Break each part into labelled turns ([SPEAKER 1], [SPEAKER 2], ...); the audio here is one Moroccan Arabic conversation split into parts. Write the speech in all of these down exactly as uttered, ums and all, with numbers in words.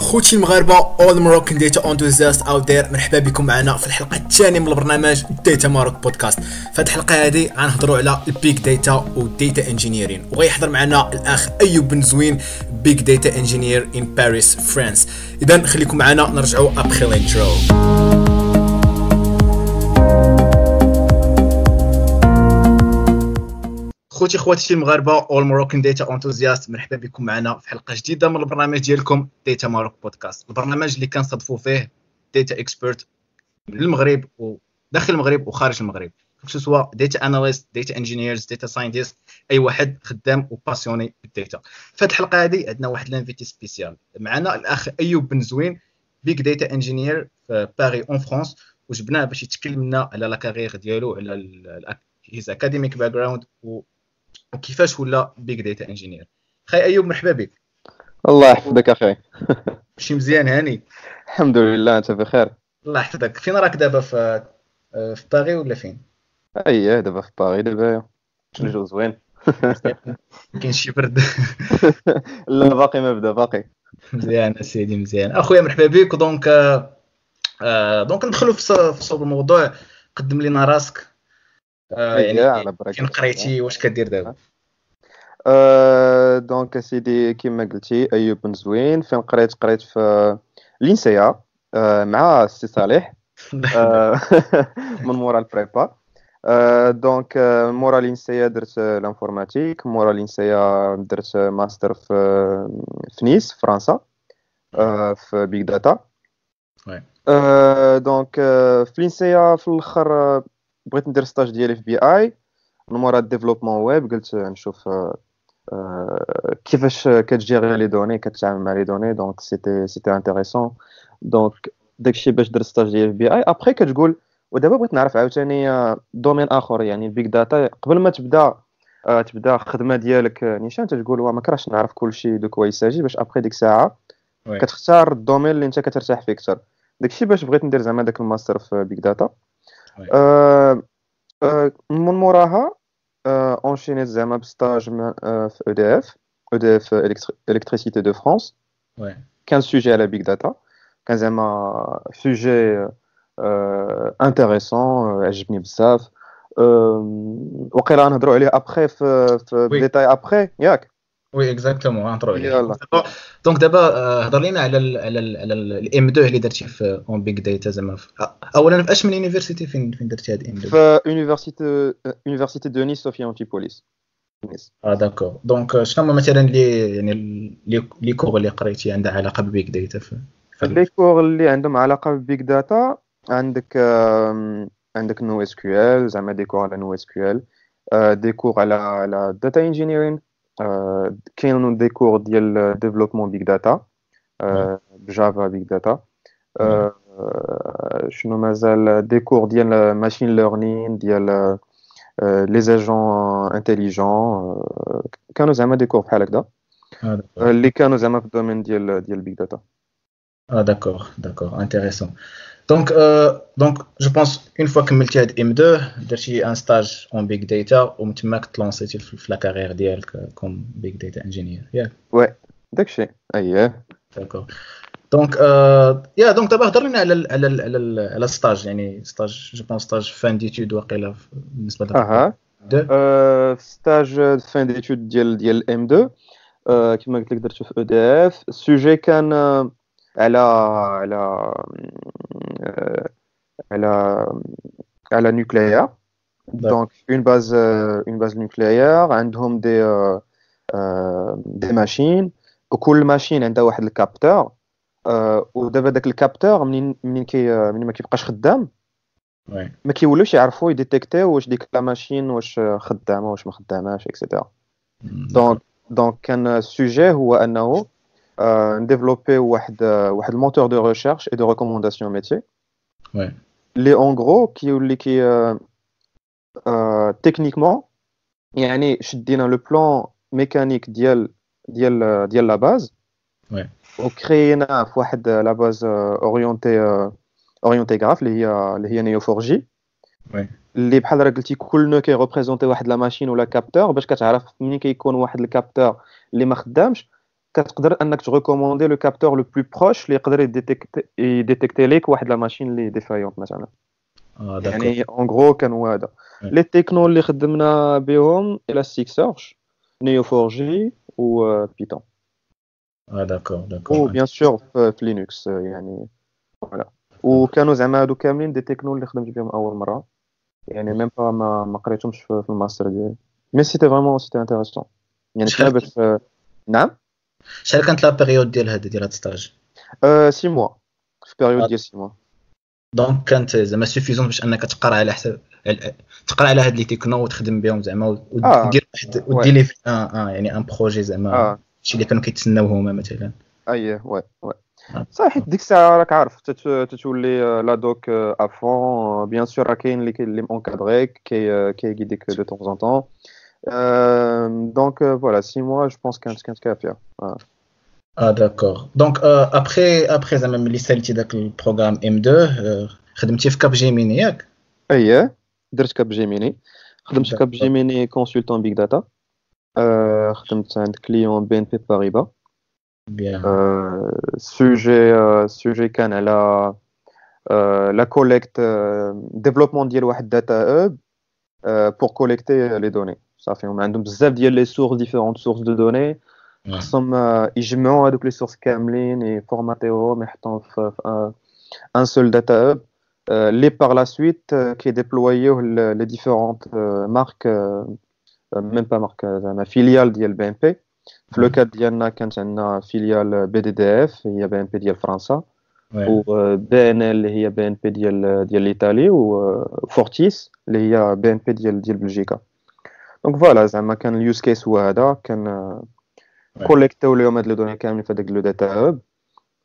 [SPEAKER 1] خوتي المغاربة، all Moroccan data enthusiasts out there، مرحبا بكم معنا في الحلقة الثانية من البرنامج Data Maroc Podcast. في هذه الحلقة هذه غنهضروا على ال big data وال data engineering، وغيحضر معنا الاخ ايوب بن زوين، big data engineer in Paris France. اذا خليكم معنا، نرجعوا après l'intro. خوتي خواتي المغاربة، all Moroccan data enthusiasts، مرحبا بكم معنا في حلقة جديدة من البرنامج ديالكم Data Maroc Podcast، البرنامج اللي كنستضيفوا فيه data expert من المغرب وداخل المغرب وخارج المغرب، سواء data analyst، data engineers، data scientist، اي واحد خدام و passionné بال data. في هذه الحلقة هذه عندنا واحد l'invité spécial معنا، الاخ ايوب بن زوين، big data engineer في Paris en France، وجبناه باش يتكلم لنا على la carrière ديالو، على his academic background وكيفاش ولا big data engineer. خي ايوب مرحبا بك.
[SPEAKER 2] الله يحفظك اخي.
[SPEAKER 1] شي مزيان هاني؟
[SPEAKER 2] الحمد لله، انت بخير؟
[SPEAKER 1] الله يحفظك. فين راك دابا، في في باغي ولا فين؟
[SPEAKER 2] اييه دابا في باغي دابا، الجو زوين.
[SPEAKER 1] كاين شي برد؟
[SPEAKER 2] لا باقي ما بدا باقي.
[SPEAKER 1] مزيان اسيدي مزيان اخويا، مرحبا بك. donc آه donc ندخلوا في صوب الموضوع. قدم لنا راسك، آه يعني فين قريتي، واش كدير دابا؟
[SPEAKER 2] أه donc سيدي كما قلتي ايوب بن زوين. فين قريت؟ قريت في l'INSEA أه مع السي صالح أه من مورا ال prépa. أه donc مورا l'INSEA درت l'informatique، مورا l'INSEA درت ماستر في في نيس فرنسا أه في big data. أه donc في l'INSEA في الاخر بغيت ندير stage ديالي في BI، من مورا développement web قلت نشوف كيفاش كتجيري les données، كتعامل مع les données، donc c'était c'était intéressant. donc داكشي باش درت stage ديالي في BI. après كتقول ودابا بغيت نعرف عاوتاني domaine اخر، يعني ال big data. قبل ما تبدا تبدا الخدمة ديالك نيشان تقول ما كرهتش نعرف كلشي de quoi il s'agit، باش après ديك الساعة كتختار ال domaine اللي انت كترتاح فيه اكثر. داكشي باش بغيت ندير زعما داك الماستر في big data. أه أه من موراها enchaînيت زعما ب stage في او دي اف او دي اف Électricité de France. كان sujet على big data، كان زعما sujet intéressant، عجبني بزاف. وقيلا نهضروا عليه après في في détail après، ياك؟
[SPEAKER 1] oui exactement نهضروا عليه. donc دابا هضر لينا على ال على ال على ال إم تو اللي درتي في en big data. زعما اولا في اش من université فين فين درتي هاد إم تو؟
[SPEAKER 2] في université université de Nice Sophia Antipolis.
[SPEAKER 1] اه d'accord. donc شنو هما مثلا les يعني les les cours اللي قريتي عندها علاقة بال big data؟ في
[SPEAKER 2] les cours اللي عندهم علاقة بال big data عندك عندك NoSQL، زعما des cours على NoSQL، des cours على على data engineering، كاينين des cours ديال développement big data ب Java big data، شنو مازال، des cours ديال machine learning، ديال les agents intelligents. كانوا زعما des cours بحال هكذا اللي كانوا زعما في ال domaine ديال ديال big data.
[SPEAKER 1] اه d'accord d'accord intéressant. donc donc je pense une fois كملتي هاد إم تو درتي un stage en big data، ومن تماك تلونسيتي في la carrière ديالك comme big data engineer، ياك؟
[SPEAKER 2] oui داكشي اييه.
[SPEAKER 1] d'accord. donc yeah donc دابا هضر لنا على على على على stage، يعني stage je pense stage fin d'études واقيلا بالنسبة لك.
[SPEAKER 2] اها stage fin d'études ديال ديال إم تو كما قلت لك درتو في EDF. ال sujet كان على على على على nucléaire. donc une base une base nucléaire عندهم des des machines، وكل machine عندها واحد ال capteur. ودابا داك ال capteur منين منين كي منين ما كيبقاش خدام ما كيولوش يعرفوا يdétectيو واش ديك la machine واش خدامه واش ما خداماش et cetera. donc donc كان ال sujet هو انه نديفلوبي واحد واحد ال moteur de recherche et de recommandation métier اللي en gros كيولي كي techniquement، يعني شدينا le plan mécanique ديال ديال ديال la base وكرينا في واحد la base orientée orientée graphe اللي هي اللي هي Neo four J، اللي بحال راه قلتي كل nœud كي représenter واحد la machine ولا capteur، باش كتعرف منين كيكون واحد ال capteur اللي ما خدامش كتقدر انك ت recommander le capteur le plus proche اللي يقدر ي détecter ليك واحد la machine اللي défaillante مثلا.
[SPEAKER 1] اه
[SPEAKER 2] يعني en gros كان هو هذا. les technos اللي خدمنا بهم Elasticsearch، Neo four J و Python.
[SPEAKER 1] اه d'accord d'accord.
[SPEAKER 2] و bien sûr في Linux يعني voilà. وكانوا زعما هادو كاملين des technos اللي خدمت بهم اول مره، يعني même pas ما ما قريتهمش في الماستر ديالي، mais c'était vraiment c'était intéressant يعني شحال باش. نعم.
[SPEAKER 1] شحال كانت la période ديال هذا ديال هاد stage؟
[SPEAKER 2] أه six mois، في période ديال six mois.
[SPEAKER 1] donc كانت زعما suffisante باش انك تقرا على حساب تقرا على هاد les technos وتخدم بهم زعما ودير واحد ودير لي اه اه يعني un projet زعما شي اللي كانوا كيتسناو هما مثلا.
[SPEAKER 2] اييه oui oui صح، حيت ديك الساعة راك عارف تتولي la doc à fond، bien sûr راه كاين اللي اللي encadrer ك كي كي guider ك de temps en temps، donc voilà six mois je pense كانت كانت كافيه.
[SPEAKER 1] اه d'accord. donc après après زعما ملي ساليتي داك ال programme إم تو خدمتي في Capgemini ياك؟
[SPEAKER 2] اييه درت Capgemini، خدمت في Capgemini consultant big data، خدمت عند client BNP Paribas.
[SPEAKER 1] bien.
[SPEAKER 2] sujet sujet كان على la collecte، développement ديال واحد data hub pour collecter les données. صافي هما عندهم بزاف ديال les sources، différentes sources de données، خصهم يجمعوا هذوك les sources كاملين، ي formater وهم، يحطوهم في un seul data hub اللي par la suite كي déployer وه les différentes marques، même pas marques، زعما filiales ديال BNP. في le cas ديالنا كانت عندنا filiale BDDF هي BNP ديال فرنسا، و BNL اللي هي BNP ديال ديال l'Italie، و Fortis اللي هي BNP ديال ديال بلجيكا. donc voilà زعما كان ال use case هو هذا، كان collecter و لهم هاد les données كاملين في هذاك le data hub،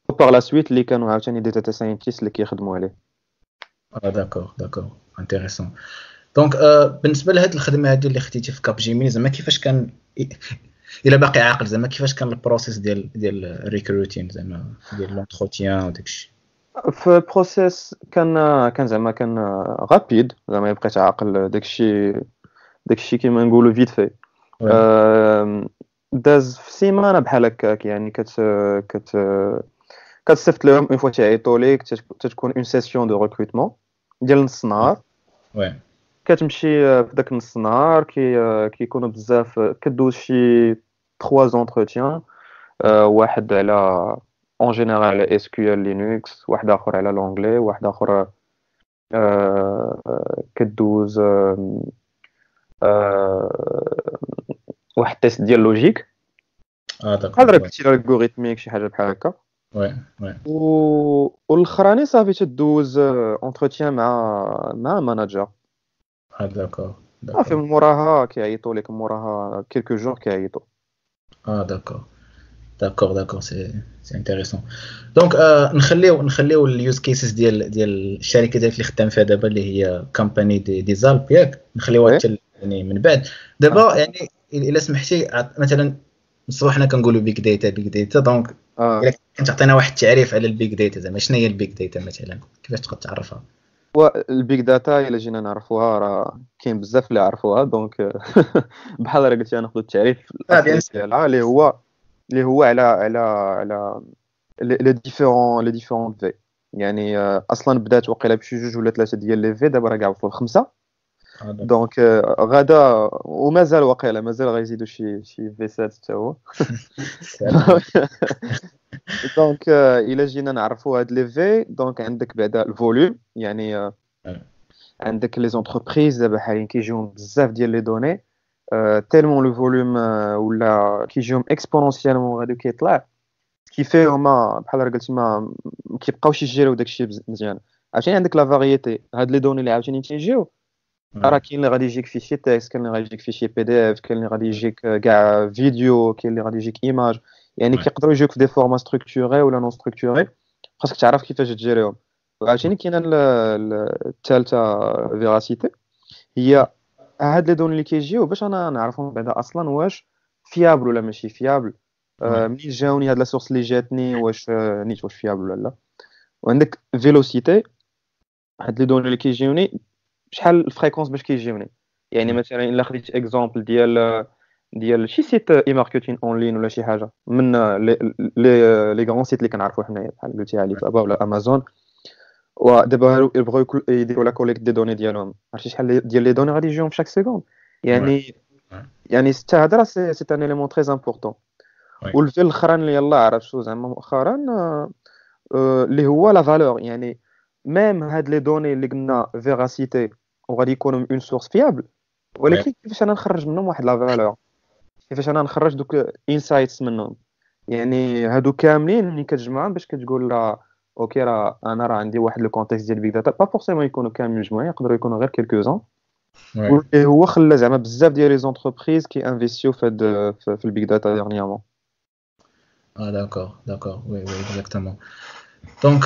[SPEAKER 2] و par la suite اللي كانوا عاوتاني des data scientists اللي كيخدموا عليه.
[SPEAKER 1] اه d'accord d'accord intéressant. donc بالنسبة لهاد الخدمة هادي اللي خديتي في Capgemini زعما كيفاش كان، الا باقي عاقل زعما كيفاش كان ال process ديال ديال ال recruting زعما ديال l'entretien وداكشي؟
[SPEAKER 2] في process كان كان زعما كان rapide، زعما بقيت عاقل داكشي داكشي كيما نقولوا vite fait، داز في سيمانه بحال هكاك. يعني كت كت كتصيفط لهم une fois تيعيطوا ليك، تتكون une session de recrutement ديال نص نهار.
[SPEAKER 1] oui.
[SPEAKER 2] كتمشي في داك نص نهار، كي كيكونوا بزاف، كدوز شي trois entretiens، واحد على en général على SQL Linux، واحد اخر على l'anglais، واحد اخر كدوز واحد test ديال logique.
[SPEAKER 1] اه d'accord.
[SPEAKER 2] هذا قلتي l'algorithmique شي حاجة بحال هكا.
[SPEAKER 1] oui oui.
[SPEAKER 2] و والاخراني صافي تدوز entretien مع مع manager.
[SPEAKER 1] اه d'accord.
[SPEAKER 2] صافي من موراها كيعيطوا لك، موراها quelques jours كيعيطوا.
[SPEAKER 1] اه d'accord d'accord d'accord c'est c'est intéressant. donc نخليو نخليو ال use cases ديال ديال الشركة ديالك اللي خدام فيها دابا اللي هي Compagnie des, des Alpes ياك، نخليوها حتى يعني من بعد. دابا يعني الا سمحتي مثلا الصباح حنا كنقولوا big data big data، donc الا كنت تعطينا واحد التعريف على ال big data زعما شنو هي ال big data مثلا، كيفاش تقدر تعرفها؟
[SPEAKER 2] ال big data الا جينا نعرفوها راه كاين بزاف اللي عرفوها، donc بحال راه قلتي ناخذ التعريف ديالها اللي هو اللي هو على على على les différents les différents V. يعني اصلا بدات وقيله بشي جوج ولا ثلاثة ديال les V، دابا راه كاع وصلوا لخمسة. donc غدا ومازال وقيله مازال غيزيدوا شي شي V سات حتى هو. donc الا جينا نعرفوا هاد les V، donc عندك بعدا ال volume، يعني عندك les entreprises دابا حاليا كيجيهم بزاف ديال les données، tellement le volume ولا كيجيهم exponentiellement غادي كيطلع، كيفاه هما بحال راه قلتي ما كيبقاوش يجيريو داكشي مزيان. عاوتاني عندك la variété، هاد les données اللي عاوتاني تيجيو راه كاين اللي غادي يجيك fichier texte، كاين اللي غادي يجيك fichier PDF، كاين اللي غادي يجيك كاع فيديو، كاين اللي غادي يجيك image، يعني كيقدروا يجيوك في des formats structurés ولا non structurés، خاصك تعرف كيفاش تجيريهم. وعاوتاني كاينه الثالثة véracité، هي هاد les données اللي كيجيو باش انا نعرفهم بعدا اصلا واش fiable ولا ماشي fiable، آه منين جاوني هاد la source اللي جاتني واش نيت واش fiable ولا لا. وعندك vélocité، هاد les données اللي كيجيوني شحال ال fréquence باش كيجيوني. يعني مثلا الا خديت exemple ديال ديال شي site e-marketing en ligne ولا شي حاجة من les les les grands sites اللي كنعرفوا حنايا بحال قلتي علي بابا ولا امازون. ودابا يبغيو يديروا la collecte des données ديالهم، عرفتي شحال ديال les données غادي يجيهم في chaque seconde. يعني يعني حتى هذا راه c'est un élément très important. والفي الاخران اللي يلاه عرفتو زعما مؤخرا اللي هو la valeur، يعني même هاد les données اللي قلنا véracité وغادي يكونوا une source fiable، ولكن كيفاش انا نخرج منهم واحد la valeur، كيفاش انا نخرج دوك insights منهم. يعني هادو كاملين ملي كتجمعهم باش كتقول راه okay راه انا راه عندي واحد le contexte ديال big data، pas forcément يكونوا كاملين مجموعين، يقدروا يكونوا غير quelques-uns. واللي هو خلى زعما بزاف ديال les entreprises كي investiو في هاد في ال big data dernièrement.
[SPEAKER 1] اه d'accord d'accord oui oui exactement. donc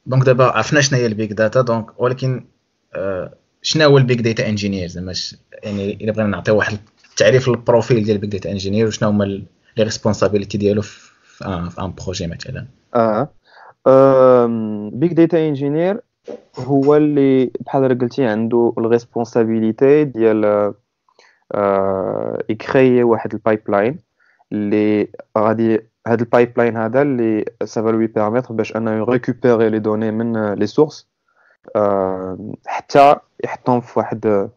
[SPEAKER 1] donc دابا عرفنا شنو هي ال big data، donc ولكن شنو هو ال big data engineer؟ زعما يعني الا بغينا نعطيو واحد التعريف لل profil ديال ال big data engineer وشنو هما les responsabilités ديالو في في un projet مثلا.
[SPEAKER 2] اه big data engineer هو اللي بحال قلتي عنده ال responsabilité ديال آه يكريي واحد ال pipeline اللي غادي هاد ال pipeline هذا اللي ça va lui permettre باش انه ي récupérer les données من les sources حتى يحطهم في واحد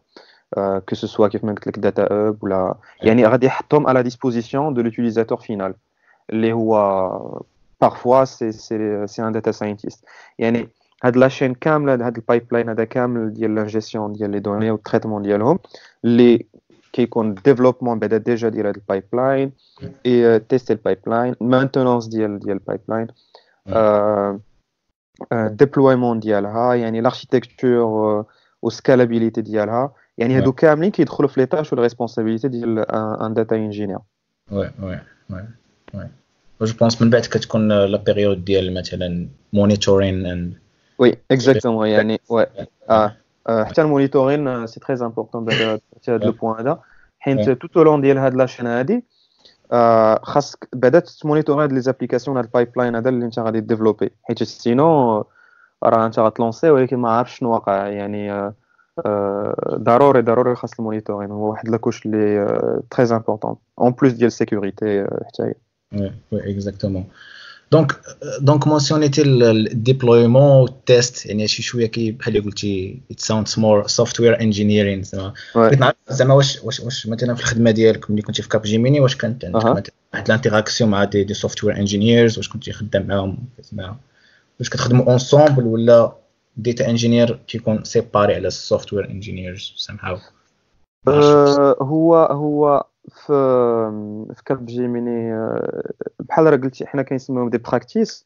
[SPEAKER 2] que ce soit كيف ما قلت لك data hub ولا يعني غادي يحطهم à la disposition de l'utilisateur final اللي هو parfois c'est c'est c'est un data scientist. يعني هاد la chaîne كاملة، هاد ال pipeline هذا كامل ديال l'ingestion ديال les données وال traitement ديالهم اللي كيكون développement بعدا déjà ديال هاد ال pipeline et tester ال pipeline، maintenance ديال ديال ال pipeline، déploiement ديالها، يعني l'architecture و scalabilité ديالها. يعني هادو كاملين كيدخلوا في les tâches و responsabilités ديال un data engineer.
[SPEAKER 1] oui oui oui oui je pense من بعد كتكون la période ديال مثلا monitoring and
[SPEAKER 2] oui exactement. يعني oui اه حتى ال monitoring c'est très important بعدا هذا le point هذا، حيت tout au long ديال هاد la chaîne هادي خاصك بعدا ت monitorer هاد les applications، هاد ال pipeline هذا اللي انت غادي développer، حيت sinon راه انت غت lancer ولكن ما عارفش شنو واقع. يعني ضروري ضروري خاص ال monitoring، هو واحد la couche اللي très importante en plus ديال ال sécurité حتى هي.
[SPEAKER 1] oui oui exactement. donc donc mentionnéتي ال déploiement وال test، يعني شي شوية كي بحال اللي قلتي it sounds more software engineering. زعما بغيت نعرف زعما واش واش واش مثلا في الخدمة ديالك ملي كنتي في Capgemini واش كانت عندك مثلا واحد l'interaction مع des des software engineers، واش كنتي خدام معاهم زعما واش كتخدموا ensemble ولا data engineer كيكون séparé على ال software engineers somehow؟
[SPEAKER 2] هو هو في في Capgemini بحال راه قلتي حنا كنسميهم des practices،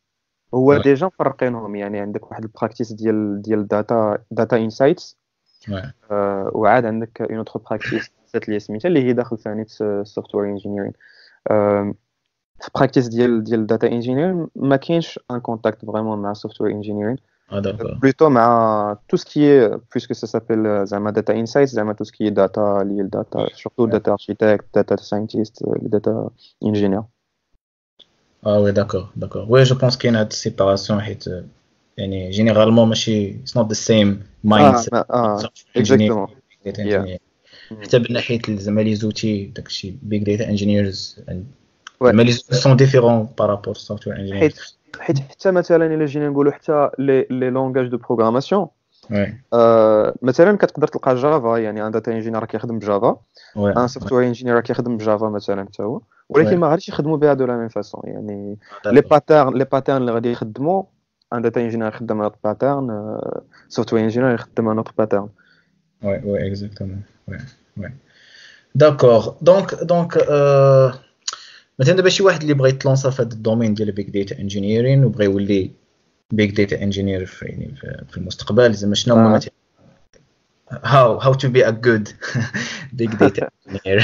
[SPEAKER 2] هو déjà مفرقينهم. يعني عندك واحد ال practice ديال ديال data data insights، وعاد عندك une autre practice اللي سميتها اللي هي داخل ثاني software engineering. في practice ديال ديال data engineering ما كاينش un contact vraiment مع software engineering، plutôt مع tout ce qui est puisque ça s'appelle زعما data insights، زعما tout ce qui est data lié data، surtout data architect، data scientist، data engineer.
[SPEAKER 1] اه oui d'accord d'accord oui je pense كاين هاد ال séparation، حيت يعني généralement ماشي it's not the same mind.
[SPEAKER 2] اه exactement.
[SPEAKER 1] حتى من ناحية زعما les outils داكشي big data engineers زعما les outils sont différents par rapport software engineers.
[SPEAKER 2] حيت حيت حتى مثلا الا جينا نقولوا حتى les les langages de programmation، مثلا كتقدر تلقى Java، يعني un data engineer كيخدم ب Java، un software engineer كيخدم ب Java مثلا حتى هو، ولكن ما غاديش يخدموا بها de la même façon. يعني les patterns les patterns اللي غادي يخدموا un data engineer يخدم un pattern، software engineer يخدم un autre pattern.
[SPEAKER 1] oui oui exactement oui oui d'accord. donc donc مثلا دابا شي واحد اللي بغى يتلونسا في هذا ال domaine ديال big data engineering وبغى يولي big data engineer في يعني في المستقبل، زعما شنو هما مثلا how how to be a good big data engineer؟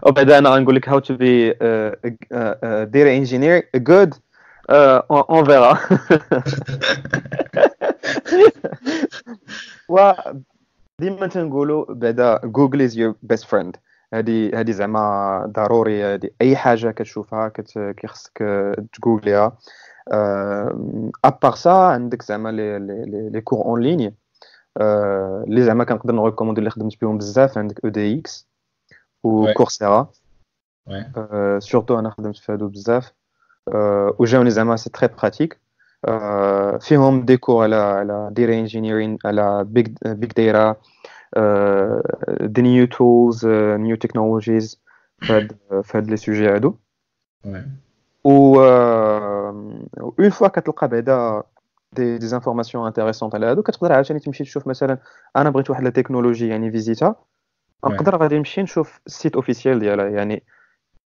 [SPEAKER 2] وبعدا انا غنقول لك how to be data engineer good، on verra. و ديما تنقولوا بعدا Google is your best friend. هذه هذه زعما ضروري، هذه اي حاجة كتشوفها كيخصك تجوجليها. à part ça عندك زعما les les les cours en ligne اللي زعما كنقدر ن recommander اللي خدمت بهم بزاف. عندك edX، و Coursera surtout. انا خدمت في هادو بزاف وجاوني زعما c'est très pratique. فيهم des cours على على data engineering، على big big data، the new tools، new technologies في هاد les sujets هادو. و une fois كتلقى بعدا des des informations intéressantes على هادو، كتقدر عاوتاني تمشي تشوف. مثلا انا بغيت واحد la technologie يعني فيزيتا، نقدر غادي نمشي نشوف ال site officiel ديالها. يعني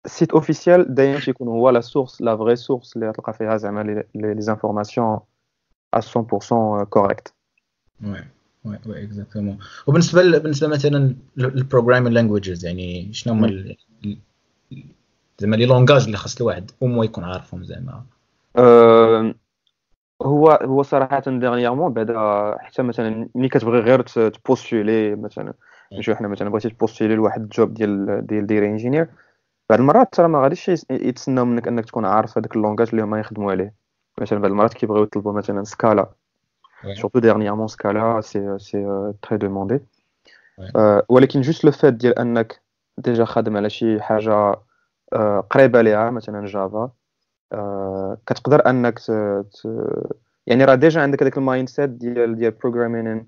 [SPEAKER 2] ال site officiel دايما تيكون هو la source، la vraie source اللي تلقى فيها زعما les informations مية في المية correctes.
[SPEAKER 1] oui oui oui exactement. وبالنسبه بالنسبه مثلا لل programming languages، يعني شنو هما زعما les langages اللي خاص الواحد au moins يكون عارفهم زعما؟
[SPEAKER 2] أه هو هو صراحة dernièrement بعدا، حتى مثلا ملي كتبغي غير ت postuler، مثلا نشوف حنا مثلا بغيتي ت postuler لواحد ال job ديال ديال data engineer، بعض المرات ترى ما غاديش يتسناو منك انك تكون عارف هذاك ال langage اللي هما يخدموا عليه. مثلا بعض المرات كيبغيو يطلبوا مثلا Scala، surtout dernièrement Scala c'est c'est très demandé. ولكن juste le fait ديال انك déjà خادم على شي حاجة قريبه ليها، مثلا Java، كتقدر انك ت... ت... يعني راه déjà عندك هذاك ال mindset ديال ديال programming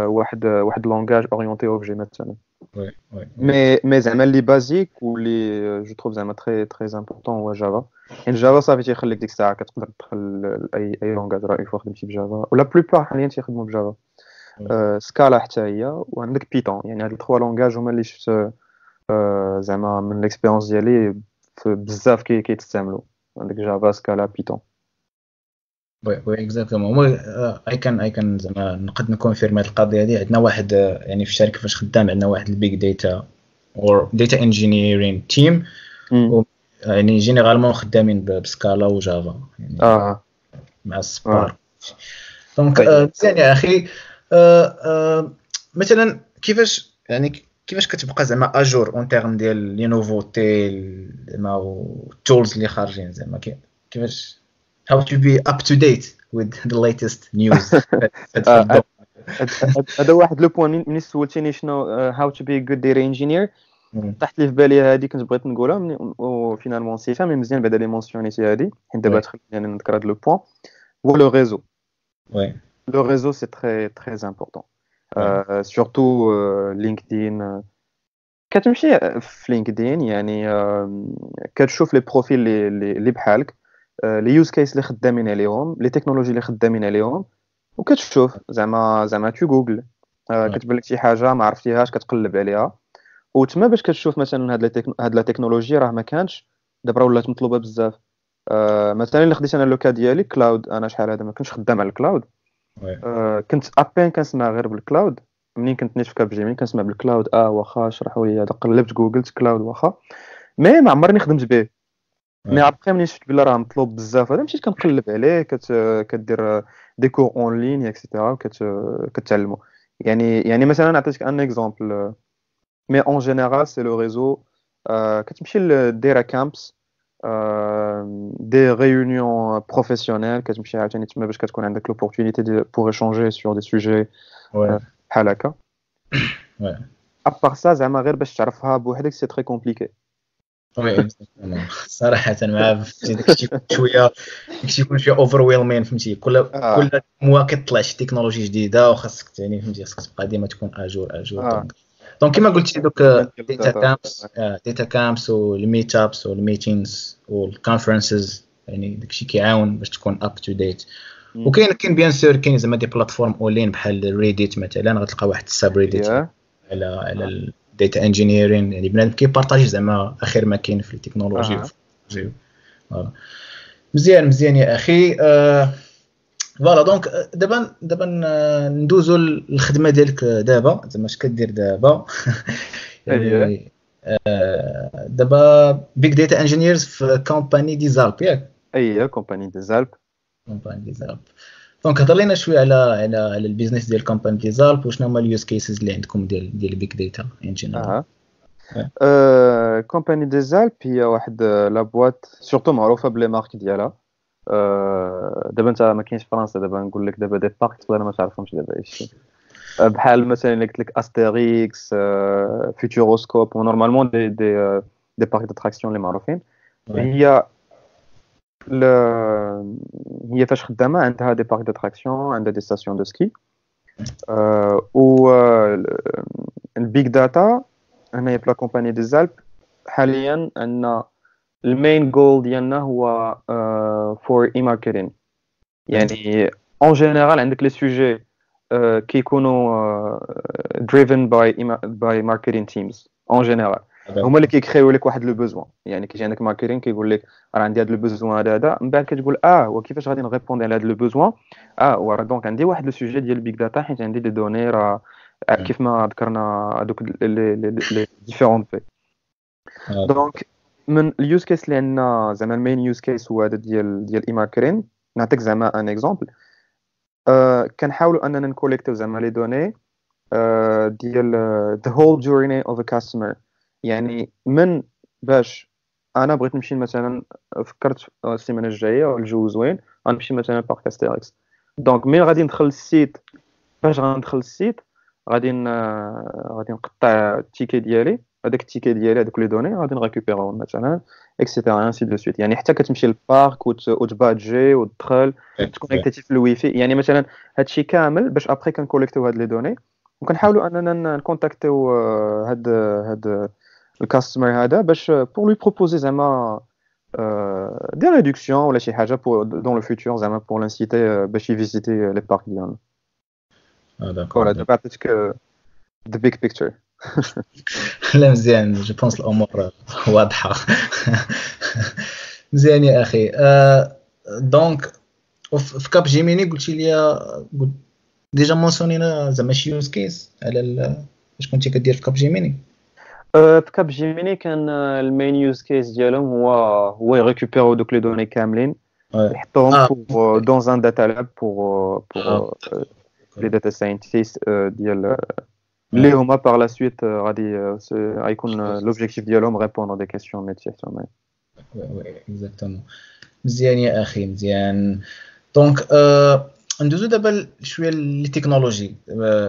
[SPEAKER 2] واحد واحد langage orienté objet مثلا.
[SPEAKER 1] oui oui
[SPEAKER 2] mais mais زعما les basiques واللي je trouve زعما très très important هو Java. يعني Java صافي تيخليك ديك الساعة كتقدر تدخل اي اي langage، راه une fois خدمتي ب Java، و la plupart حاليا تيخدموا ب Java، Scala حتى هي، وعندك Python. يعني هاد ال trois langages هما اللي شفت زعما من l'expérience ديالي بزاف كي كيتستعملوا، عندك Java، Scala، Python.
[SPEAKER 1] oui oui exactement. I can I can زعما نقد ن confirmer هذه القضية هذه. عندنا واحد يعني في الشركة فاش خدام عندنا واحد ال big data or data engineering team، يعني généralement خدامين ب Scala و Java يعني
[SPEAKER 2] اه
[SPEAKER 1] مع Spark. donc مزيان يا اخي. آه آه مثلا كيفاش يعني كيفاش كتبقى زعما à jour en termes ديال les nouveautés زعما وال tools اللي خارجين؟ زعما كيفاش how to be up to date with the latest news؟
[SPEAKER 2] هذا واحد le point. ملي سولتيني شنو how to be good data engineer، طاحت لي في بالي هذه، كنت بغيت نقولها و finalement نسيتها، mais مزيان بعدا لي mentionn يتي هذه، حيت دابا تخليني نذكر هذا le point، هو le réseau.
[SPEAKER 1] oui
[SPEAKER 2] le réseau c'est très très important، surtout LinkedIn. كتمشي في LinkedIn يعني كتشوف les profils اللي اللي بحالك، les use cases اللي خدامين عليهم، les technologies اللي خدامين عليهم، وكتشوف زعما زعما tu googles، كتبان لك شي حاجة ما عرفتيهاش كتقلب عليها، وتما باش كتشوف مثلا هاد هاد la technologie راه ما كانش، دابا ولات مطلوبه بزاف. مثلا اللي خديت انا le cas ديالي cloud، انا شحال هذا ما كنتش خدام على ال cloud، كنت à peine كنسمع غير بال cloud. منين كنت نيت في Capgemini كنسمع بال cloud، اه واخا شرحوا لي هذا، قلبت جوجلت cloud واخا، mais ما عمرني خدمت به. mais après ملي شفت بلي راه مطلوب بزاف هذا، مشيت كنقلب عليه، كت كدير des cours en ligne et cetera، كتعلمو. يعني يعني مثلا نعطيك un exemple، mais en général c'est le réseau. كتمشي ل data camps، des réunions professionnelles، كتمشي عاوتاني تما باش كتكون عندك l'opportunité pour échanger sur des sujets بحال هكا. à part ça زعما غير باش تعرفها بوحدك c'est très compliqué.
[SPEAKER 1] oui صراحة مع داكشي شوية داكشي يكون شوية overwhelming، فهمتي؟ كل آه. كل mois كطلع شي تكنولوجي جديدة وخاصك يعني فهمتي خاصك تبقى ديما تكون à jour à jour. donc كما قلتي دوك data camps data camps وال meetups وال meetings وال conferences، يعني داكشي كيعاون باش تكون up to date. وكاين كاين bien sûr كاين زعما des plateformes online بحال Reddit مثلا، غتلقى واحد ال subreddit على على ال data engineering، يعني بنادم كي partager زعما اخر ما كاين في التكنولوجي. voilà مزيان مزيان يا اخي. آه voilà donc دابا دابا ندوزو للخدمة ديالك دابا، زعما اش كدير دابا؟ يعني آه دابا big data engineers في Compagnie des Alpes، ياك؟
[SPEAKER 2] اي، Compagnie des Alpes.
[SPEAKER 1] Compagnie des Alpes. donc هضر لنا شوية على على على ال business ديال Compagnie des Alpes، وشنو هما ال use cases اللي عندكم ديال ديال big data engineer؟
[SPEAKER 2] اه Compagnie des Alpes هي واحد la boîte surtout معروفة ب les marques ديالها. دابا انت ما كاينش في فرنسا، دابا نقول لك دابا des parcs تقدر ما تعرفهمش دابا ايش. بحال مثلا اللي قلت لك Astérix، Futuroscope، normalement des des des parcs d'attractions اللي معروفين. هي هي فاش خدامه عندها des parcs d'attractions، عندها des stations de ski. و ال big data هنايا في la Compagnie des Alpes حاليا عندنا ال main goal ديالنا هو for e-marketing. يعني en général عندك les sujets كيكونوا driven by by marketing teams en général، هما اللي كيكريو لك واحد le besoin. يعني كيجي عندك marketing كيقول لك راه عندي هذا le besoin هذا هذا، من بعد كتقول اه وكيفاش غادي ن répondre على هذا le besoin؟ اه وراه donc عندي واحد le sujet ديال big data حيت عندي des données، راه كيف ما ذكرنا هذوك les les différents P. donc من ال use case اللي عندنا زعما ال main use case هو هذا ديال ديال e-marketing. نعطيك زعما un exemple، آه كنحاولوا اننا نكوليكتيو زعما les données آه ديال the whole journey of a customer. يعني من باش انا بغيت نمشي مثلا، فكرت السيمانة الجاية الجو زوين غنمشي مثلا parc Astérix، donc مين غادي ندخل ال site، فاش غندخل ال site غادي غادي نقطع ال ticket ديالي، هذاك ال ticket ديالي هذوك les données غادي نريكوبيرهم مثلا et cetera ainsi de suite. يعني حتى كتمشي لل parc وتبادجي وتدخل تكونيكتي في الويفي، يعني مثلا هادشي كامل باش après كنكوليكتيو هاد les données وكنحاولوا اننا نكونتاكتيو هاد هاد ال customer هذا باش pour lui proposer زعما des réductions ولا شي حاجة pour dans le futur، زعما pour l'inciter باش يفيزيتي les parcs ديالنا.
[SPEAKER 1] اه d'accord.
[SPEAKER 2] voilà، دابا عطيتك the big picture.
[SPEAKER 1] لا مزيان، je pense الامور واضحه. مزيان يا اخي. donc في Capgemini قلتي لي déjà مونسيونينا زعما شي use case على اش كنتي كدير في Capgemini؟
[SPEAKER 2] في Capgemini كان ال main use case ديالهم هو هو يريكوبيرو دوك les données كاملين، يحطوهم pour dans un data lab pour pour les data scientists ديال اللي هما par la suite غادي غيكون l'objectif ديالهم répondre des questions métier.
[SPEAKER 1] oui oui exactement. مزيان يا اخي مزيان. donc ندوزو دابا شوية les technologies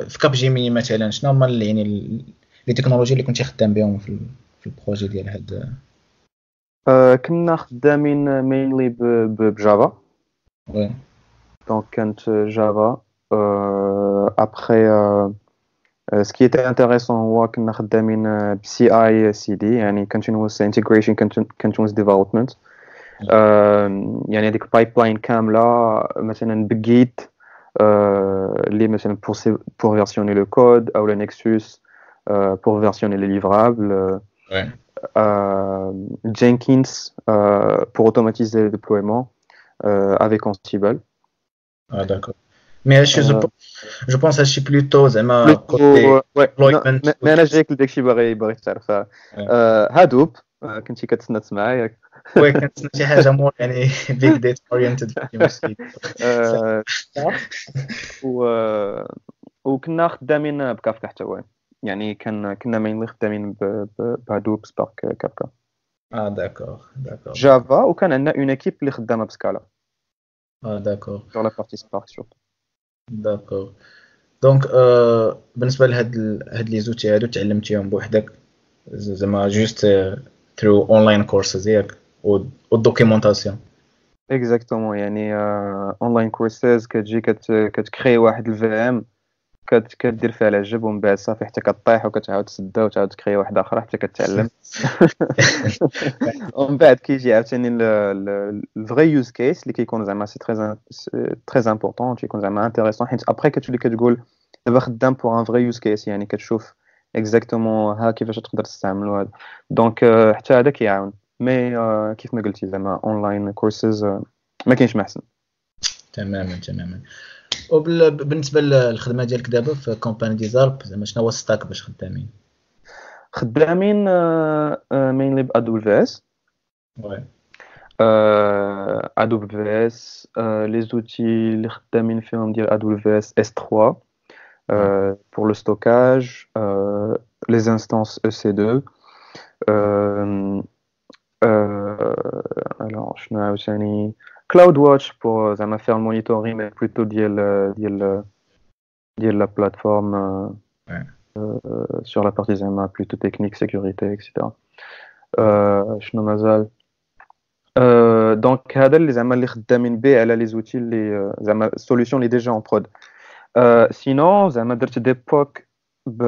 [SPEAKER 1] في Capgemini. مثلا شنو هما يعني les technologies اللي كنتي خدام بهم في في ال projet ديال هاد؟
[SPEAKER 2] كنا خدامين mainly ب Java.
[SPEAKER 1] oui
[SPEAKER 2] donc كانت Java. après ce qui était intéressant هو كنا خدامين ب CI/CD، يعني continuous integration continuous development، يعني هذيك ال pipeline كاملة مثلا ب Git اللي مثلا pour pour versionner le code او Nexus pour versionner les livrables, Jenkins pour automatiser le déploiement avec Ansible.
[SPEAKER 1] Ah d'accord. Mais هادشي je pense هادشي plutôt زعما
[SPEAKER 2] côté mais انا جايك لداكشي باغي باغي تعرف Hadoop كنتي كتسنى تسمع ياك؟
[SPEAKER 1] oui، كنتسنى شي حاجة more يعني big data oriented.
[SPEAKER 2] و وكنا خدامين بكافكا حتى هو، يعني كان كنا mainly خدامين ب Hadoop، Spark، Kafka.
[SPEAKER 1] اه d'accord d'accord.
[SPEAKER 2] Java، وكان عندنا une équipe اللي خدامه ب Scala.
[SPEAKER 1] اه d'accord.
[SPEAKER 2] sur la partie Spark surtout.
[SPEAKER 1] d'accord. donc بالنسبة لهاد هاد les outils هادو تعلمتيهم بوحدك زعما juste through online courses ياك وال documentation؟
[SPEAKER 2] exactement، يعني online courses، كتجي كتكري واحد ال VM كدير فيها العجب ومن بعد صافي حتى كطيح وكتعاود تسدها وتعاود تكري واحدة اخرى حتى كتعلم، ومن بعد كيجي عاوتاني ال vrai use case اللي كيكون زعما c'est très très important، تيكون زعما intéressant حيت après كتولي كتقول دابا خدام pour un vrai use case، يعني كتشوف exactement ها كيفاش تقدر تستعملو هذا. donc حتى هذا كيعاون، mais كيف ما قلتي زعما online courses ما كاينش ما احسن.
[SPEAKER 1] تماما تماما. وبالنسبة للخدمة ديالك دابا في Compagnie des Alpes، زعما شنو هو stack باش خدامين؟
[SPEAKER 2] خدامين mainly ب AWS.
[SPEAKER 1] oui
[SPEAKER 2] AWS، les outils اللي خدامين فيهم ديال AWS إس ثري pour le stockage, euh, les instances E C deux. Euh, euh, alors, شنو عاوتاني CloudWatch pour زعما faire le monitoring mais plutôt ديال ديال ديال la plateforme sur la partie زعما plutôt technique, sécurité, et cetera. شنو مازال؟ donc هذا اللي زعما اللي خدامين به على les outils اللي زعما ال solution اللي déjà en prod. sinon زعما درت des P O C ب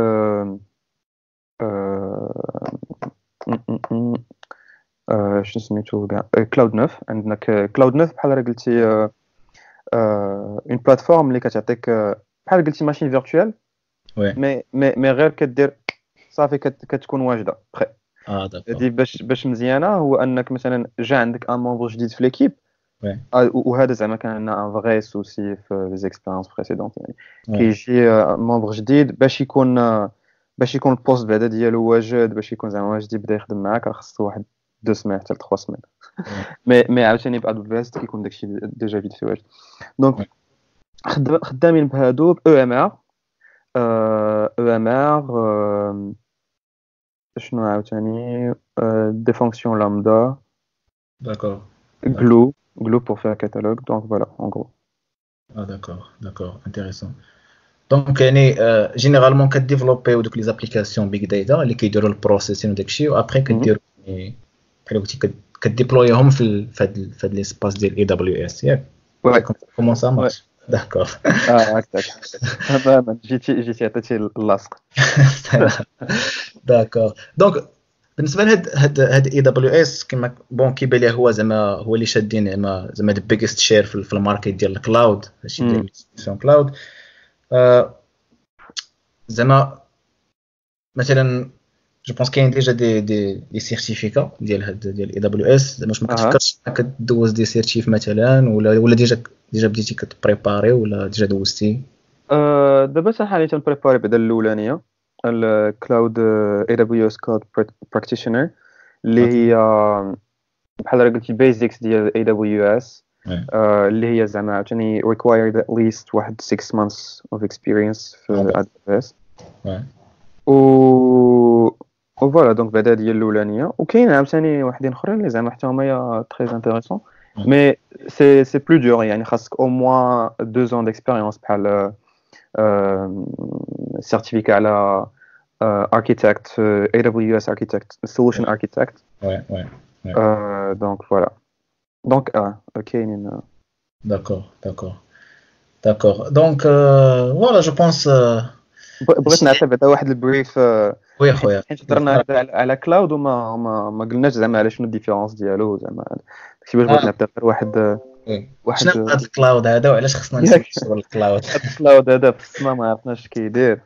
[SPEAKER 2] آه، شنو سميتو كاع Cloud neuf. عندنا Cloud neuf بحال راه قلتي une plateforme اللي كتعطيك بحال قلتي machine virtuelle, mais mais mais غير كدير صافي كتكون واجده prêt.
[SPEAKER 1] اه
[SPEAKER 2] هادي باش باش مزيانه هو انك مثلا جا عندك un membre جديد في l'équipe, وهذا زعما كان عندنا un vrai souci في les expériences précédentes, يعني كيجي membre جديد باش يكون باش يكون ال poste بعدا ديالو واجد, باش يكون زعما واجد يبدا يخدم معاك, راه خصو واحد deux semaines حتى trois semaines. mais mais عاوتاني ب A W S كيكون داكشي déjà vite fait واجد. donc خدامين بهادو او ام ار او ام ار. شنو عاوتاني؟ des fonctions Lambda.
[SPEAKER 1] D'accord.
[SPEAKER 2] Glue, Glue pour faire catalogue. Donc voilà, en gros.
[SPEAKER 1] Ah d'accord, d'accord, intéressant. Donc يعني généralement كديفلوبيو دوك les applications big data اللي كيديروا ال processing وداكشي, و après كديروا بحال قلتي كديبلويهم في في هاد في هاد l'espace ديال A W S, ياك؟ Comment ça marche? D'accord.
[SPEAKER 2] اه هكاك تماما, جيتي جيتي عطيتي اللاصق.
[SPEAKER 1] D'accord. Donc بالنسبه لهاد هاد هاد A W S, كما bon كيبان لي هو زعما هو اللي شادين زعما زعما the biggest share في ال market ديال ال cloud, هادشي ديال cloud. زعما مثلا je pense كاين déjà des des des certificats ديال هاد ديال A W S. زعما واش ما كتفكرش كدوز des certifs مثلا ولا ولا déjà déjà بديتي كتبريباري ولا déjà دوزتي؟
[SPEAKER 2] أه دابا حاليا تنبريباري بعدا الاولانيه, ال cloud A W S Cloud Practitioner, اللي هي بحال قلتي basics ديال A W S, اللي هي زعما عاوتاني required at least واحد six months of experience في A W S. و و voilà, donc بعدا ديال الاولانيه, وكاين عاوتاني وحدين اخرين اللي زعما حتى هما très intéressants, mais c'est c'est plus dur, يعني خاصك au moins deux ans d'expérience, بحال certificat على architect, A W S architect, solution architect.
[SPEAKER 1] Ouais, ouais.
[SPEAKER 2] Donc voilà, donc اه كاينين.
[SPEAKER 1] D'accord, d'accord. D'accord. Donc, euh, voilà, je pense.
[SPEAKER 2] بغيت نعطي بعدا واحد ال brief.
[SPEAKER 1] Oui خويا.
[SPEAKER 2] حيت هضرنا على cloud وما ما, ما قلناش زعما على شنو ال différence ديالو, زعما داكشي باش بغيت نعطي غير واحد.
[SPEAKER 1] واحد شنو هذا ال cloud هذا وعلاش خصنا نسميو ال cloud؟
[SPEAKER 2] ال cloud هذا في السما ما عرفناش كيدير.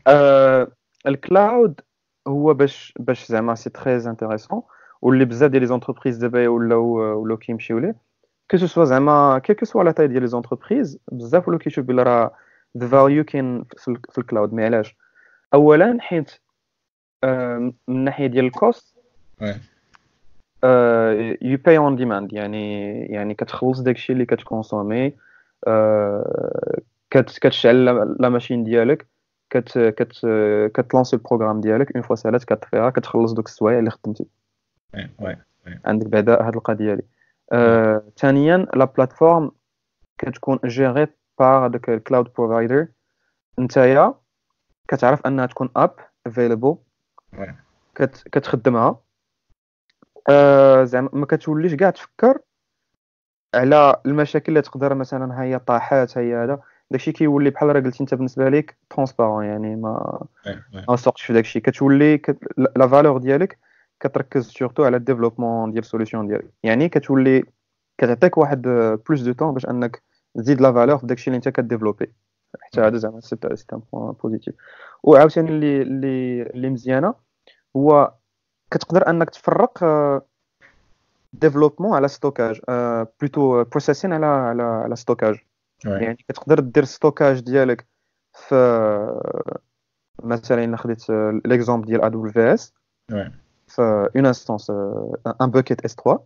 [SPEAKER 2] آه ال cloud هو باش باش زعما c'est très intéressant, واللي بزاف ديال les entreprises دابا ولاو ولاو كيمشيو ليه, que ce soit زعما quelle que soit la taille ديال les entreprises, بزاف ولاو كيشوف بلي راه the value كاين في ال cloud. Mais علاش؟ اولا حيت من الناحيه ديال ال cost, you pay on demand, يعني يعني كتخلص داكشي اللي كتكونسومي. كتشعل la machine ديالك, كت كت كتلونسي ال programme ديالك, une fois سالات كطفيها, كتخلص دوك السوايع اللي خدمتي. عندك بعدا هاد القضيه دي. ثانيا la plateforme كتكون gérée par هذاك ال cloud provider, نتايا كتعرف انها تكون up available, كتخدمها, آه زعما ما كتوليش كاع تفكر على المشاكل اللي تقدر مثلا هي طاحات هي هذا. داكشي كيولي بحال راه قلتي انت بالنسبه ليك transparent, يعني ما ما سوقش في داكشي. كتولي كت... la valeur ديالك كتركز surtout على ال développement ديال solution ديالك, يعني كتولي كتعطيك واحد plus de temps باش انك تزيد la valeur في داكشي اللي انت كديفلوبي. حتى هذا زعما c'est c'est un point positif. وعاوتاني اللي اللي اللي مزيانه هو كتقدر انك تفرق développement على stockage, plutôt processing على على على stockage. يعني كتقدر دير stockage ديالك في مثلا الا خديت l'exemple ديال A W S في une instance, un bucket S trois,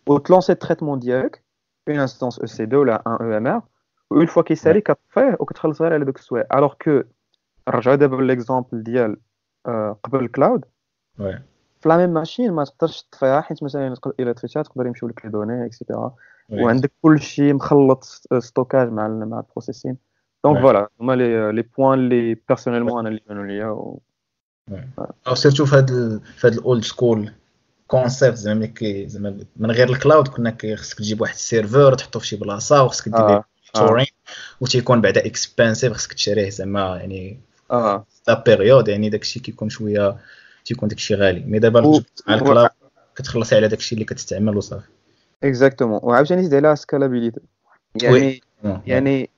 [SPEAKER 2] وتلونسي ال traitement ديالك une instance E C deux ولا un E M R, une fois كيسالي كطفيه وكتخلص غير على دوك السوايع. Alors que نرجعو دابا l'exemple ديال قبل ال cloud, في la même machine ما تقدرش تطفيها, حيت مثلا الا طفيتها تقدر يمشيو لك les données et cetera, وعندك كلشي مخلط stockage مع مع ال processing. donc voilà هما les les points اللي personnellement انا اللي بانوا ليا. و
[SPEAKER 1] او surtout في هاد في هاد ال old school concept زعما كي زعما من غير ال cloud كنا خصك تجيب واحد ال serveur تحطو في شي بلاصة وخصك دير monitoring وتيكون بعدا expensive، خصك تشريه زعما يعني
[SPEAKER 2] اه
[SPEAKER 1] la période، يعني داكشي كيكون شوية تيكون داكشي غالي. mais دابا
[SPEAKER 2] و...
[SPEAKER 1] مع ال cloud كتخلصي على داكشي اللي كتستعمل وصافي.
[SPEAKER 2] exactement. وعاوتاني زيد على scalabilité، يعني يعني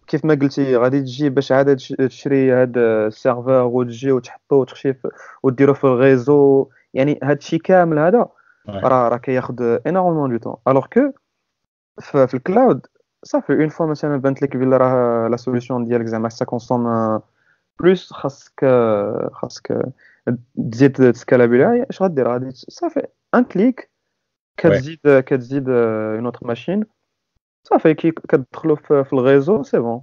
[SPEAKER 2] كيف ما قلتي غادي تجي باش عاد تشري هاد ال serveur وتجي وتحطو وتخشي وديرو في ال réseau، يعني هاد الشيء كامل هذا راه راه كياخذ énormément de temps، alors que في ال cloud صافي une fois مثلا بانت لك بلي راه la solution ديالك زعما ça consomme plus، خاصك خاصك تزيد تسكالابيلي، اش غدير؟ غادي صافي un clic كتزيد كتزيد une autre machine، صافي كي كتدخلوا في, في ال réseau c'est bon،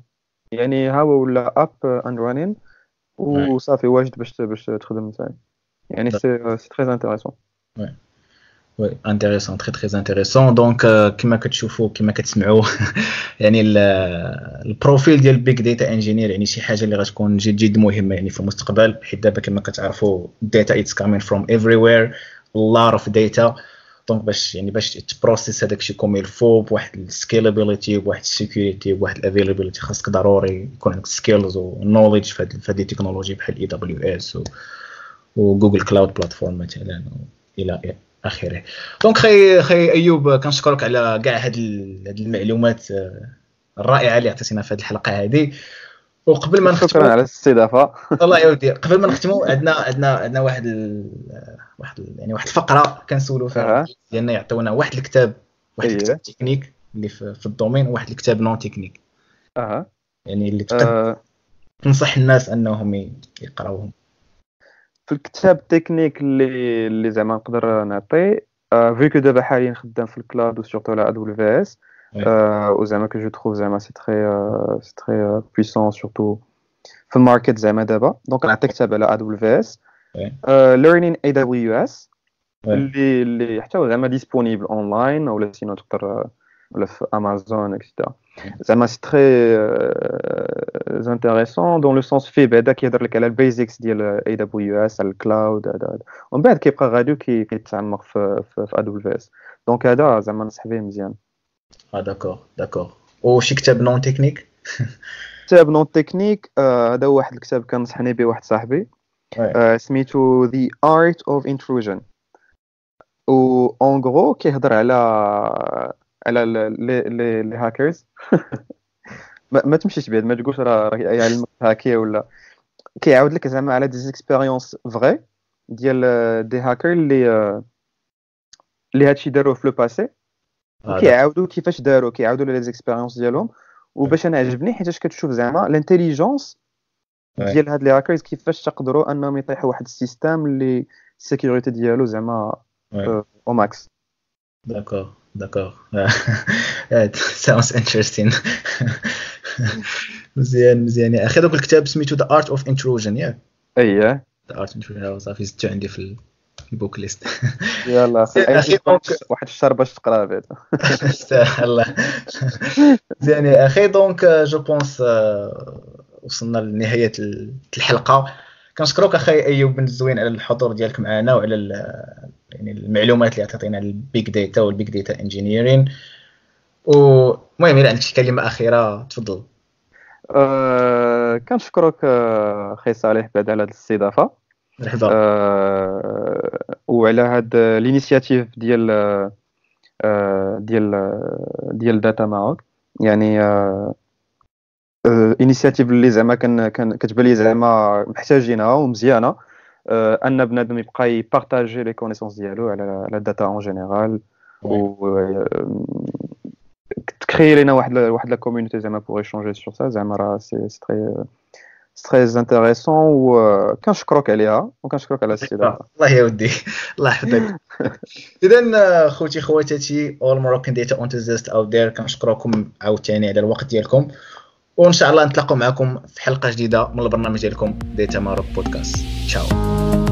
[SPEAKER 2] يعني ها هو ولا up and running وصافي واجد باش باش تخدم نتايا، يعني c'est c'est très intéressant.
[SPEAKER 1] oui intéressant، très très intéressant. donc كما كتشوفوا كما كتسمعوا يعني ال profil ديال big data engineer يعني شي حاجة اللي غتكون جد جد مهمة يعني في المستقبل، حيت دابا كما كتعرفوا data it's coming from everywhere، lot of data. donc باش يعني باش ت process هذاك الشيء comme il faut بواحد ال scalability بواحد ال security بواحد ال availability، خاصك ضروري يكون عندك skills و knowledge في هاد les technologies بحال AWS و Google Cloud Platform مثلا الى اخره. donc خي خي ايوب كنشكرك على كاع هاد هاد المعلومات الرائعة اللي عطيتينا في هذه الحلقة هذه. وقبل ما نختموا،
[SPEAKER 2] شكرا على الاستضافة.
[SPEAKER 1] الله يودي. قبل ما نختموا عندنا عندنا عندنا واحد ال... واحد ال... يعني واحد الفقرة كنسولوا فيها ديالنا يعطيونا واحد الكتاب، واحد الكتاب تكنيك اللي في, في ال domaine، وواحد الكتاب non technique.
[SPEAKER 2] اها
[SPEAKER 1] يعني اللي تقدر أه. تنصح الناس انهم يقراوهم.
[SPEAKER 2] في الكتاب تكنيك اللي اللي زعما نقدر نعطي، vu que دابا حاليا خدام في ال cloud و surtout على AWS، وزعما que je trouve زعما c'est très c'est très puissant surtout في ال market زعما دابا. donc نعطي كتاب على AWS، Learning AWS، اللي اللي حتى هو زعما disponible online ولا sinon تقدر ولا في Amazon et cetera. زعما c'est très intéressant dans le sens فيه بعدا كيهضر لك على ال basics ديال AWS، على ال cloud هذا، ومن بعد كيبقى غادي كيتعمق في في AWS. donc هذا زعما نصح به مزيان.
[SPEAKER 1] اه d'accord d'accord. وشي كتاب non technique؟
[SPEAKER 2] كتاب non technique، هذا هو واحد الكتاب كنصحني به واحد صاحبي، آه سميتو The Art of Intrusion، و en gros كيهضر على على les les les hackers. ما, ما تمشيش بعيد، ما تقولش راه يعلمك هاكي ولا، كيعاود لك زعما على des expériences vraies ديال des hackers اللي اللي هادشي داروه في le passé، وكيعاودوا كيفاش داروا، كيعاودوا les expériences ديالهم. وباش انا عجبني حيتاش كتشوف زعما l'intelligence ديال هاد les hackers كيفاش تقدروا انهم يطيحوا واحد ال système اللي ال sécurité ديالو زعما au max.
[SPEAKER 1] d'accord d'accord، sounds interesting. مزيان مزيان يا اخي. دوك الكتاب سميتو The Art of Intrusion، ياك؟
[SPEAKER 2] اييه
[SPEAKER 1] The Art Intrusion، صافي زدتو عندي في ال book list.
[SPEAKER 2] يلا اخي واحد الشهر باش تقرا بعدا.
[SPEAKER 1] الله مزيان يا اخي. donc je pense وصلنا لنهاية الحلقة. كنشكرك اخي ايوب بن الزوين على الحضور ديالك معنا وعلى يعني المعلومات اللي عطيتينا على ال big data وال big data engineering. ومهم الا عندك شي كلمة اخيرة تفضل.
[SPEAKER 2] أه كنشكرك اخي صالح بعد على هذه الاستضافة.
[SPEAKER 1] مرحبا.
[SPEAKER 2] أه وعلى هاد l'initiative ديال أه ديال ديال Data Maroc، يعني أه initiative اللي زعما كان كان كتبان لي زعما محتاجينها ومزيانه، ان بنادم يبقى ي partager les connaissances ديالو على على ال data en général، و ت créer لينا واحد واحد la communauté زعما pour échanger sur ça، زعما راه c'est c'est très très intéressant، وكنشكرك عليها وكنشكرك على الاستضافة.
[SPEAKER 1] الله يا ودي، الله يحفظك. اذا خوتي خواتاتي all Moroccan data enthusiasts out there، كنشكركم عاوتاني على الوقت ديالكم، وان شاء الله نتلاقوا معكم في حلقة جديدة من البرنامج ديالكم Data Maroc Podcast. تشاو.